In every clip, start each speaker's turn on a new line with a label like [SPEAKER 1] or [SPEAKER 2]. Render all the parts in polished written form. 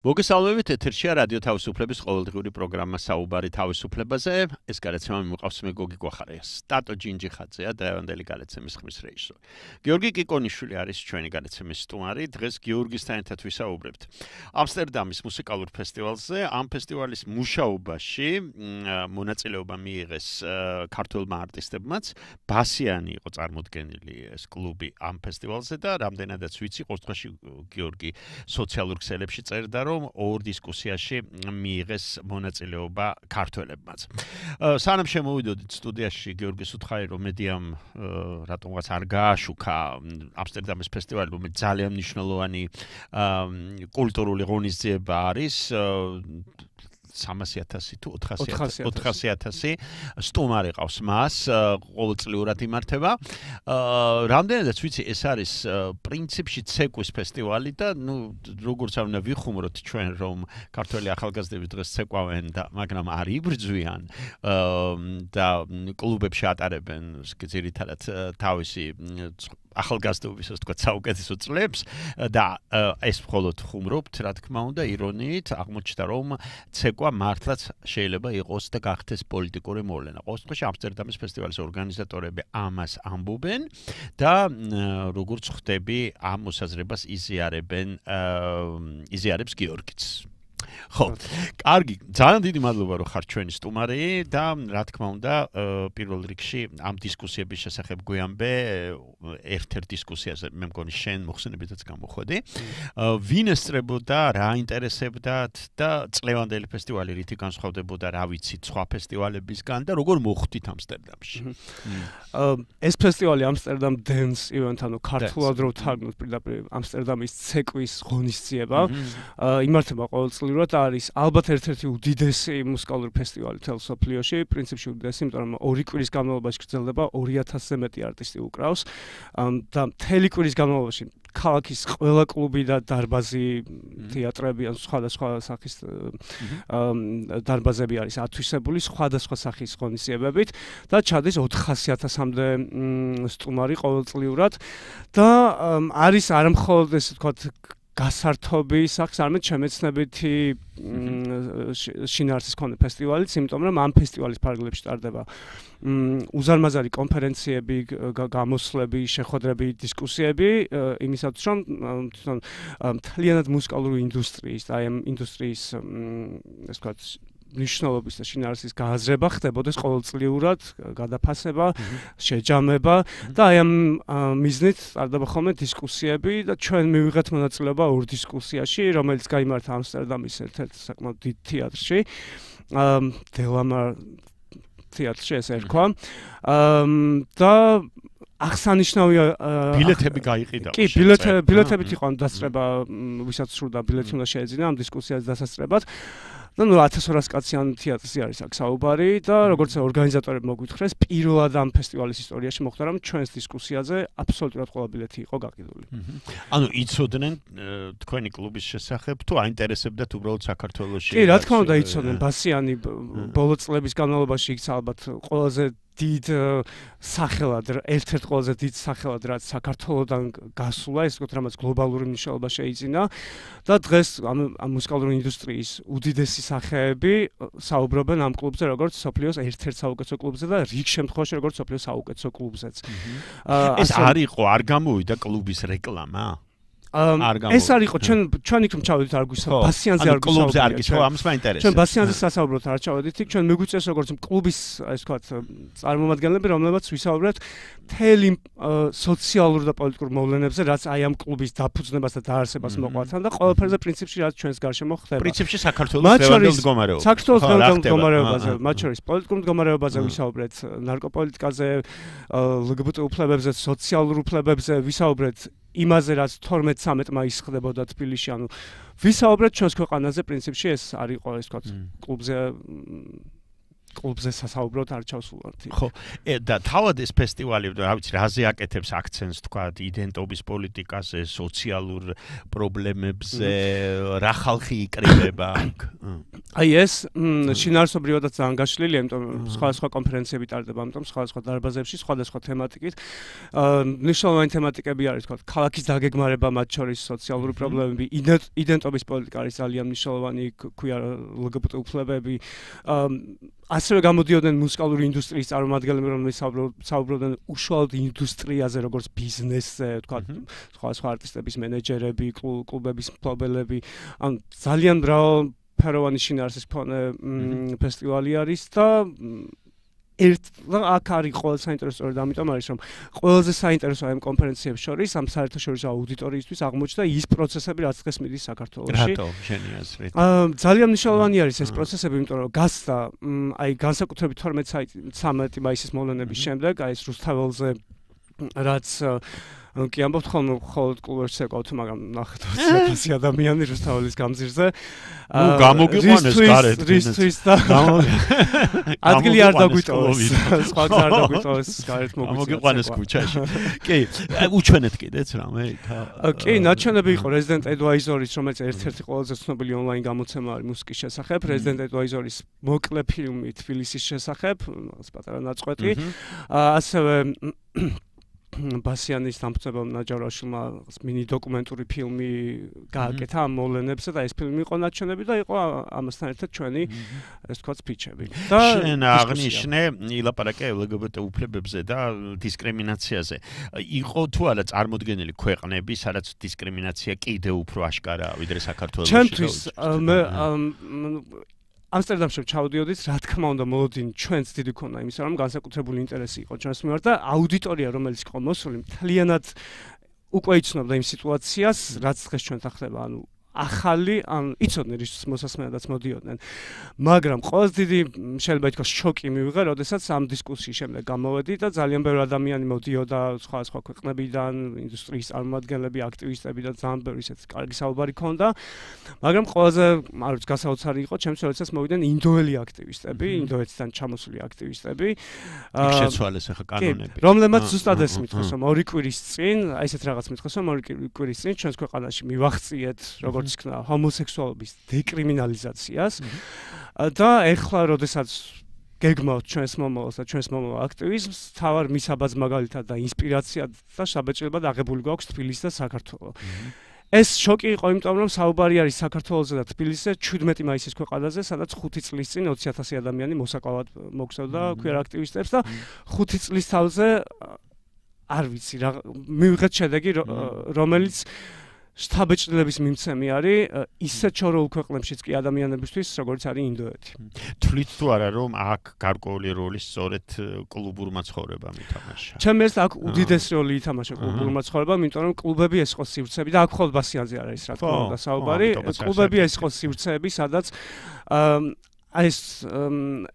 [SPEAKER 1] მოგესალმებით, ეთერშია რადიო თავისუფლების ყოველდღიური პროგრამა საუბარი თავისუფლებაზე. ეს გადაცემა მიმოყავს მე გოგი გვახარიას. ტატო ჯინჯიხაძეა დღევანდელი გადაცემის ხმის რეჟისორი. გიორგი კიკონიშვილი არის ჩვენი გადაცემის სტუმარი. დღეს გიორგისთან ერთად ვისაუბრებთ ამსტერდამის მუსიკალურ ფესტივალზე. ამ ფესტივალის მუშაობაში მონაწილეობა მიიღეს ქართველმა არტისტებმაც. ბასიანი იყო წარმოდგენილი ეს კლუბი ამ ფესტივალზე და რამდენადაც ვიცი, ყოველ შემთხვევაში გიორგი სოციალურ ქსელებში წერდა რომ ორ დისკუსიაში მიიღეს მონაწილეობა ქართველებმაც. სანამ შემოვიდოდით სტუდიაში გიორგის უთხარი რომ მედიამ რატომღაც არ გააშუქა ამსტერდამის ფესტივალი, რომელიც ძალიან მნიშვნელოვანი კულტურული ღონისძიება არის 300,000 თუ 400,000 სტუმარი ყავს მას, ყოველწლიურად იმართება. რამდენადაც ვიცი, ეს არის პრინციპში ცეკვის ფესტივალი და როგორც არ უნდა ვიხუმროთ ჩვენ რომ ქართველი ახალგაზრდები დღეს ცეკვავენ და მაგრამ არ იბრძვიან და კლუბებში ატარებენ ძირითადად თავისი ახალგაზრდობის ასე ვთქვათ საუკეთესო წლებს და ეს მხოლოდ ხუმრობთ, რა თქმა უნდა, ირონიით აღმოჩნდა რომ ცეკვა მართლაც შეიძლება იყოს და გახდეს პოლიტიკური მოვლენა. ყოველ შემთხვევაში ამსტერდამის ფესტივალის ორგანიზატორები ამას ამბობენ და როგორც ხვდები, ამ მოსაზრებას იზიარებს გიორგიც. ხო, კარგი, ძალიან დიდი მადლობა რომ ხარ ჩვენი სტუმარი და რა თქმა უნდა, პირველ რიგში ამ დისკუსიების შესახებ გვიამბე ერთ-ერთ დისკუსიაზე, მე მგონი შენ მოხსენებითაც გამოხვედი. ვინ ესწრებოდა, რა ინტერესებდათ და წლევანდელი ფესტივალი რითი განსხვავდებოდა, რა ვიცით სხვა ფესტივალებისგან და როგორ მოხვდით ამსტერდამში.
[SPEAKER 2] ეს ფესტივალი Amsterdam Dance Event, ანუ ქართულად რო ვთარგმნოთ პირდაპირ ამსტერდამის ცეკვის ღონისძიება, იმართება ყოველწლიურად არის ალბათ ერთ-ერთი უდიდესი მუსიკალური ფესტივალი მთელ მსოფლიოში, პრინციპში უდიდესი, იმიტომ რომ 2 კვირის განმავლობაში გრძელდება 2000-ზე მეტი არტისტი უკრავს და მთელი კვირის განმავლობაში ქალაქის ყველა კლუბი და დარბაზი, თეატრები ან სხვადასხვა სახის დარბაზები არის ათვისებული სხვადასხვა სახის ღონისძიებებით და ჩადის 400,000-მდე სტუმარი ყოველწლიურად და არის არა მხოლოდ ესე ვთქვათ გასართობი სახის, არამედ შემეცნებითი შინაარსის მქონე ფესტივალიც, იმიტომ რომ ამ ფესტივალის ფარგლებში ტარდება უზარმაზარი კონფერენციები, გამოსვლები, შეხვედრები, დისკუსიები, იმისათვის რომ თვითონ მთლიანად მუსიკალური ინდუსტრიის და ამ ინდუსტრიის ესე ვთქვათ ნიშნულობის და შინაარსის გააზრება ხდებოდეს ყოველწლიურად, გადაფასება, შეჯამება და აი ამ მიზნით ტარდება ხოლმე დისკუსიები და ჩვენ მივიღეთ მონაწილეობა ორ დისკუსიაში, რომელიც გაიმართა ამსტერდამის ერთ-ერთ საკმაოდ დიდ თეატრში, დელამარ თეატრში ესე ერქვა. და აღსანიშნავია
[SPEAKER 1] ბილეთები გაიყიდა.
[SPEAKER 2] კი, ბილეთებით იყო დასწრება, ვისაც სურდა ბილეთი უნდა შეეძინა ამ დისკუსიას დასასწრებად. და 1200 კაციან თეატრში არის აქ საუბარი და როგორც ორგანიზატორები მოგვითხეს, პირველად ამ ფესტივალის ისტორიაში მოხდა რომ ჩვენს დისკუსიაზე აბსოლუტურად ყველა ბილეთი იყო გაყიდული.
[SPEAKER 1] ანუ იცოდნენ თქვენი კლუბის შესახებ თუ აინტერესებდათ უბრალოდ საქართველოში?
[SPEAKER 2] კი, რა თქმა უნდა იცოდნენ, ბასიანი ბოლო წლების განმავლობაში იქ ალბათ ყველაზე დიდ სახელად, ერთ-ერთ ყველაზე დიდ სახელად, რაც საქართველოდან გასულა, ეს ვთქვათ, რამაც გლობალური მნიშვნელობა შეიძინა და დღეს ამ მუსიკალური ინდუსტრიის უდიდესი სახეები საუბრობენ ამ კლუბზე, როგორც მსოფლიოს ერთ-ერთ საუკეთესო კლუბზე და რიგ შემთხვევაში როგორც მსოფლიოს საუკეთესო კლუბზეც.
[SPEAKER 1] ეს არ იყო, არ გამოვიდა კლუბის რეკლამა?
[SPEAKER 2] ეს არ იყო, ჩვენ იქ ჩავედით არ გვისა, ბასიანზე არ გვისა.
[SPEAKER 1] კლუბზე არ გისვა, ამას მაინტერესებს.
[SPEAKER 2] ჩვენ ბასიანზე სასაუბროთ არ ჩავედით იქ, ჩვენ მიგვიწევს როგორც კლუბის, ასე ვთქვათ, წარმომადგენლები, რომლებიც ვისაუბრეთ მთელი სოციალურ და პოლიტიკურ მოვლენებზე, რაც აი ამ კლუბის დაფუძნებას და დაარსებას მოყვართან და ყველაფერზე პრინციპში რაც ჩვენს გარშემო ხდება.
[SPEAKER 1] პრინციპში საქართველოს დღევანდელ მდგომარეობაზე.
[SPEAKER 2] საქართველოს დღევანდელ მდგომარეობაზე, მათ შორის პოლიტიკურ მდგომარეობაზე ვისაუბრეთ, ნარკოპოლიტიკაზე, LGBT უფლებებზე, სოციალურ უფლებებზე ვისაუბრეთ იმაზე რაც 12-13 მაისს ხდებოდა თბილისში, ანუ ვისაუბრეთ ჩვენს ქვეყანაზე პრინციპში ეს არ იყო, ეს ვთქვათ, კლუბზე სასაუბროდ არ ჩავსულვართ.
[SPEAKER 1] ხო, და თავად ეს ფესტივალი, რა ვიცი, რაზე აკეთებს აქცენტს, ვთქვათ, იდენტობის პოლიტიკაზე, სოციალურ პრობლემებზე, რა ხალხი იკრიბება აქ?
[SPEAKER 2] აი ეს შინაარსობრივადაც ძალიან გაშლილია, იმიტომ რომ სხვადასხვა კონფერენციები ტარდება, ამიტომ სხვადასხვა დარბაზებში, სხვადასხვა თემატიკით. მნიშვნელოვანი თემატიკები არის, თქო, ქალაქის დაგეგმარება, მათ შორის სოციალური პრობლემები, იდენტობის პოლიტიკა არის ძალიან მნიშვნელოვანი, ქვია LGBT უფლებები. ასევე გამოდიოდნენ მუსიკალური ინდუსტრიის წარმომადგენლები, რომლებიც საუბრობდნენ უშუალოდ ინდუსტრიაზე, როგორც ბიზნესზე, თქვა, სხვადასხვა არტისტების მენეჯერები, კლუბების მფლობელები, ან ძალიან მრავალ ფეროვანი შინაარსის მქონე ფესტივალი არის და აქ არის ყველაზე საინტერესო სწორედ ამიტომ არის რომ ყველაზე საინტერესო ამ კონფერენციებს შორის ამ საერთაშორისო აუდიტორიისთვის აღმოჩნდა ის პროცესები რაც დღეს მიდის საქართველოში.
[SPEAKER 1] რატო შენი აზრით?
[SPEAKER 2] ძალიან მნიშვნელოვანი არის ეს პროცესები, იმიტომ რომ გასდა აი განსაკუთრებით 12 მაისის მოვლენების შემდეგ აი ეს რუსთაველზე რაც კი ამბობთ ხოლმე მხოლოდ კლუბებში ეკავთ, მაგრამ ნახეთ 20 ადამიანი რუსთაველის გამზირზე.
[SPEAKER 1] გამოგიყვანეს გარეთ.
[SPEAKER 2] რისთვის და ადგილი არ დაგვიტოვეს. სხვა გზა არ დაგვიტოვეს გარეთ
[SPEAKER 1] მოგიყვანეს ქუჩაში. კი, უჩვენეთ კიდეც რამე?
[SPEAKER 2] კი, ნაჩვენები იყო Resident Advisor-ის, რომელიც ერთ-ერთი ყველაზე ცნობილი ონლაინ გამოცემა არის მუსიკის შესახებ, Resident Advisor-ის მოკლე ფილმი თბილისის შესახებ, პატარა ნაწყვეტი. ასევე ბასიანის დამწებამ ნაჯარაშვილმა მინი დოკუმენტური ფილმი გააკეთა ამ მოვლენებზე და ეს ფილმი იყო ნაჩვენები და იყო ამასთან ერთად ჩვენი ეს თქვა სპიჩები. და
[SPEAKER 1] შენ აღნიშნე ილაპარაკე LGBT უფლებებზე და დისკრიმინაციაზე. იყო თუ არა წარმოდგენილი ქვეყნები, სადაც დისკრიმინაცია კიდევ უფრო აშკარაა ვიდრე საქართველოში?
[SPEAKER 2] ჩემთვის ამსტერდამში ჩავდიოდით, რა თქმა უნდა, მოლოდინი ჩვენც დიდი ქონა იმისა, რომ განსაკუთრებული ინტერესი იყო ჩვენს მიმართ და აუდიტორია, რომელიც იყო მოსული, მთლიანად უკვე იცნობდა იმ სიტუაციას, რაც დღეს ჩვენთან ხდება, ანუ ახალი, ან იცოდნენ რის მოსასმენადაც მოდიოდნენ. მაგრამ ყველაზე დიდი შეიძლება ითქვას შოკი მივიღე, როდესაც ამ დისკუსიის შემდეგ გამოვედი და ძალიან ბევრი ადამიანი მოდიოდა სხვადასხვა ქვეყნებიდან, ინდუსტრიის წარმომადგენლები, აქტივისტები და ძალიან ბევრი ისეთი კარგი საუბარი ქონდა. მაგრამ ყველაზე არ ვიცი გასაოცარი იყო ჩემს როდესაც მოვიდნენ ინდოელი აქტივისტები, ინდოეთიდან ჩამოსული აქტივისტები.
[SPEAKER 1] იქ შეცვალეს ახლა კანონები.
[SPEAKER 2] რომლებმაც ზუსტად ეს მითხეს, რომ 2 კვირის წინ, აი ესეთ რაღაც მითხეს, რომ 2 კვირის წინ ჩვენს ქვეყანაში მივახციეთ როგორც იქნა ჰომოსექსუალობის დეკრიმინალიზაციას და ეხლა როდესაც გეგმავთ ჩვენს მომავალს და ჩვენს მომავალ აქტივიზმს, თავარ მისაბაძ მაგალითად და ინსპირაცია და შაბეჭდილებად აღებული გვაქვს თბილისი და საქართველო. ეს შოკი იყო, იმიტომ რომ საუბარი არის საქართველოზე და თბილისზე 17 მაისის ქვეყანაზე, სადაც 5 წლის წინ 20,000 ადამიანი მოსაკლავად მოგზავნა queer აქტივისტებს და 5 წლის თავზე არ ვიცი რა მივიღეთ შედეგი, რომელიც შთაბეჭდილების მიმცემი არის ისე ჩოროულ ქვეყნებშიც კი ადამიანებისთვის, როგორც არის ინდოეთი.
[SPEAKER 1] თვლით თუ არა, რომ აქ გარკვეული როლი სწორედ კლუბურმა ცხოვრებამ ითამაშა?
[SPEAKER 2] ჩემს აქ უდიდესი როლი ითამაშა კლუბურმა ცხოვრებამ, იმიტომ რომ კლუბები ეს იყო სივრცეები და აქ მხოლოდ ბასიანზე არ არის რა თქმა უნდა საუბარი. კლუბები ეს იყო სივრცეები, სადაც აი ეს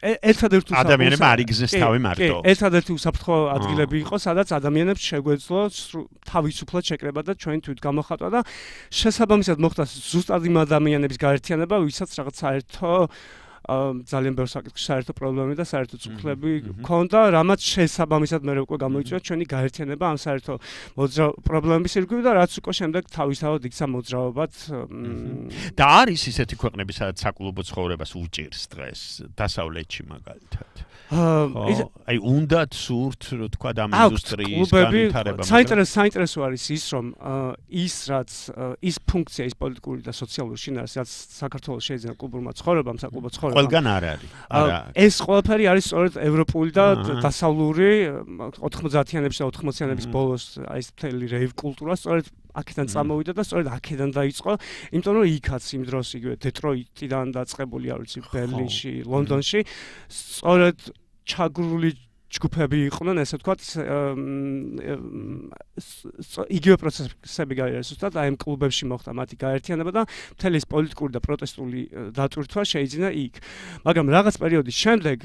[SPEAKER 2] ერთადერთი
[SPEAKER 1] ადამიანებმა არ იგზნეს თავი მარტო.
[SPEAKER 2] ერთადერთი უსაფრთხო ადგილები იყო, სადაც ადამიანებს შეგვეძლო თავისუფლად შეკრება და ჩვენი თვითგამოხატვა და შესაბამისად მოხდა ზუსტად იმ ადამიანების გაერთიანება, ვისაც რაღაც საერთო ძალიან ბევრ საკითხში საერთო პრობლემები და საერთო წუხლები ჰქონდა, რამაც შესაბამისად მე უკვე გამოიწვია ჩვენი გაერთიანება ამ საერთო პრობლემების ირგვლივ და რაც უკვე შემდეგ თავისთავად იქცა მოძრაობად.
[SPEAKER 1] და არის ისეთი ქვეყნები, სადაც საკლუბო ცხოვრებას უჭირს დღეს, დასავლეთში მაგალითად. აი უნდათ სურთ, რო თქვა ამ ინდუსტრიის განვითარება.
[SPEAKER 2] საინტერესო არის ის, რომ ის ფუნქცია, ის პოლიტიკური და სოციალური შინაარსი, რაც საქართველოს შეიძინა კლუბურმა ცხოვრებამ, საკლუბო ცხოვრებამ.
[SPEAKER 1] ყველგან არ არის.
[SPEAKER 2] ეს ყველაფერი არის სწორედ ევროპული და დასავლური 90-იანებში და 80-იანების ბოლოს აი ეს მთელი რეივ კულტურა სწორედ აქედან წამოვიდა და სწორედ აქედან დაიწყო, იმიტომ რომ იქაც იმ დროს იგივე დეტროიტიდან დაწყებული, არ ვიცი, ბერლინში, ლონდონში სწორედ ჩაგრული ჯგუფები იყვნენ, ესე ვთქვათ, იგივე პროცესები გაიარეს ზუსტად აი ამ კლუბებში მოხდა მათი გაერთიანება და მთელი ეს პოლიტიკური და პროტესტული დატვირთვა შეიძინა იქ. მაგრამ რაღაც პერიოდის შემდეგ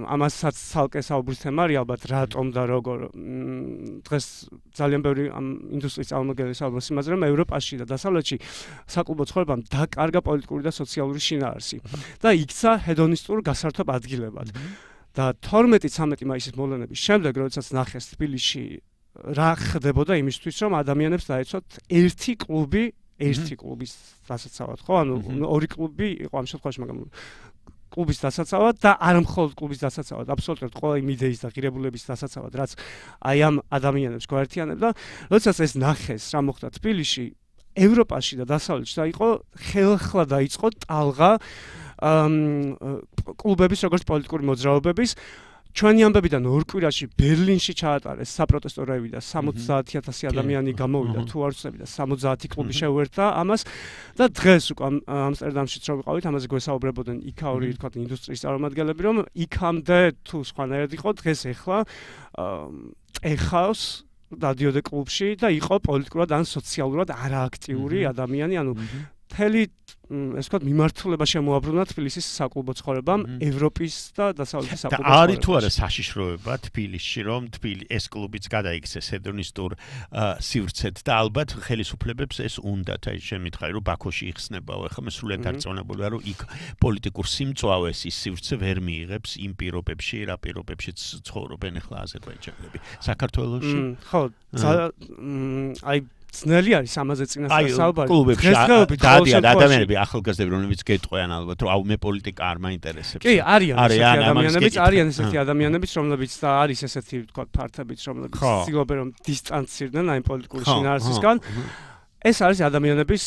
[SPEAKER 2] ამასაც ცალკე საუბრის თემა არის ალბათ რატომ და როგორ დღეს ძალიან ბევრი ამ ინდუსტრიის წარმომადგენლები საუბრობს იმაზე, რომ ევროპაში და დასავლეთში საკლუბო ცხოვრებამ დაკარგა პოლიტიკური და სოციალური შინაარსი და იქცა ჰედონისტურ გასართობ ადგილებად. და 12-13 მაისის მოვლენების შემდეგ, როდესაც ნახეს თბილისში რა ხდებოდა იმისთვის, რომ ადამიანებს დაეცოთ ერთი კლუბი ერთი კლუბის დასაცავად, ხო? ანუ ორი კლუბი იყო ამ შემთხვევაში, მაგრამ კლუბის დასაცავად და არ მხოლოდ კლუბის დასაცავად, აბსოლუტურად ყველა იმ იდეის და ღირებულების დასაცავად, რაც აი ამ ადამიანებს გვაერთიანებდა. როდესაც ეს ნახეს, რა მოხდა თბილისში, ევროპაში და დასავლეთში და იყო ხელახლა დაიწყო ტალღა კლუბების როგორც პოლიტიკური მოძრაობების ჩვენი ამბებიდან ორ კვირაში ბერლინში ჩაატარეს საპროტესტო რევი და 70,000 ადამიანი გამოვიდა თუ არ ვცდები და 70 კლუბი შეუერთდა ამას და დღეს უკვე ამსტერდამშიც რო ვიყავით ამაზე გვესაუბრებოდნენ იქაური თქვა ინდუსტრიის წარმომადგენლები რომ იქამდე თუ სხვანაირად იყო დღეს ეხლა ეხავს დადიოდა კლუბში და იყო პოლიტიკურად ან სოციალურად არააქტიური ადამიანი ანუ მთელი ეს ვთქვათ მიმართულება შემოაბრუნა თბილისის საკლუბო ცხოვრებამ ევროპის და დასავლეთის საკლუბო ცხოვრებამ.
[SPEAKER 1] არის თუ არა საშიშროება თბილისში რომ ეს კლუბიც გადაიქცეს ჰედონისტურ სივრცეთ და ალბათ ხელისუფლებებს ეს უნდათ აი შენ მითხარი რომ ბაქოში იხსნებაო ეხლა მე სრულიად დარწმუნებული ვარ რომ იქ პოლიტიკურ სიმწვავეს ის სივრცე ვერ მიიღებს იმ პირობებში რა პირობებშიც ცხოვრობენ ეხლა აზერბაიჯანელები საქართველოში
[SPEAKER 2] ხო აი ძნელი არის ამაზე წინასწარ საუბარი.
[SPEAKER 1] კლუბებში დადიან ადამიანები ახალგაზრდები რომლებიც გეტყვიან ალბათ რომ აუ მე პოლიტიკა არ მაინტერესებს.
[SPEAKER 2] კი, არიან ესეთი ადამიანებიც რომლებიც და არის ესეთი თქვა ფართებიც რომლებიც ცდილობენ რომ დისტანცირდნენ აი პოლიტიკური შინაარსისგან. ეს არის ადამიანების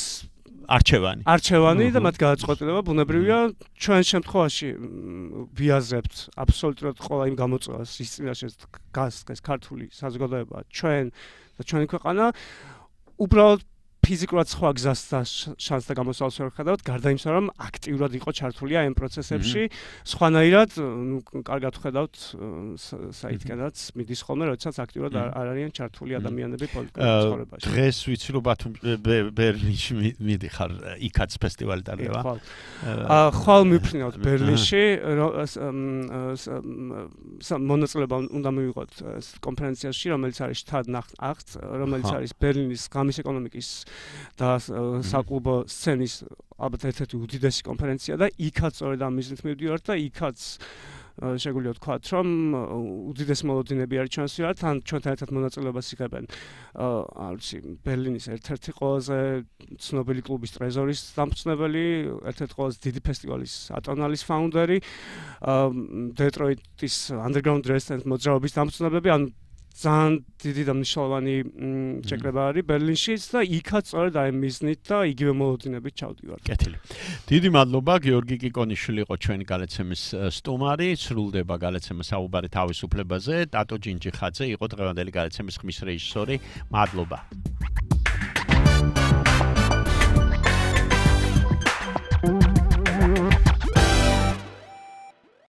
[SPEAKER 2] არჩევანი და მათ გადაწყვეტილება ბუნებრივია ჩვენ შემთხვევაში ვიაზრებთ აბსოლუტურად ყველა იმ გამოწვევას რის წინაშე გასცეს ქართული საზოგადოება ჩვენ და ჩვენი ქვეყანა უბრალოდ ფიზიკურად სხვა გზას და შანსს და გამოსავალს ვერ ხედავთ, გარდა იმისა, რომ აქტიურად იყო ჩართული ამ პროცესებში, სხვანაირად, კარგად ხედავთ საითქენაც მიდის ხოლმე, როდესაც აქტიურად არ არიან ჩართული ადამიანები პოლიტიკურ ცხოვრებაში.
[SPEAKER 1] დღეს ვიცი რომ ბერლინში მიდიხარ, იქაც ფესტივალი ტარდება.
[SPEAKER 2] ხვალ მიფრინავთ ბერლინში, მონაწილეობა უნდა მივიღოთ კონფერენციაში, რომელიც არის შტადნახტ, რომელიც არის ბერლინის ღამის ეკონომიკის და საკლუბო სცენის ალბათ ერთ-ერთი უდიდესი კონფერენცია და იქაც სწორედ ამ მიზნით მივდივართ და იქაც შეგვიძლია ვთქვათ რომ უდიდესი მოლოდინები არის ჩვენს ვიართ ან ჩვენთან ერთად მონაწილეობას იღებენ არ ვიცი ბერლინის ერთ-ერთი ყველაზე ცნობილი კლუბის ტრეზორის დამფუძნებელი ერთ-ერთი ყველაზე დიდი ფესტივალის ატონალის ფაუნდერი დეტროიტის underground resident მოძრაობის დამფუძნებლები ან ძალიან დიდი და მნიშვნელოვანი შეკრება არის ბერლინშიც და იქაც სწორედ აი მიზნით და იგივე მოლოდინებით ჩავდივართ.
[SPEAKER 1] კეთილი. დიდი მადლობა გიორგი კიკონიშვილი იყო ჩვენი გალაცემის სტუმარი, სრულდება გალაცემა საუბარი თავისუფლებაზე, ტატო ჯინჯიხაძე იყო დღევანდელი გალაცემის ხმის რეჟისორი. მადლობა.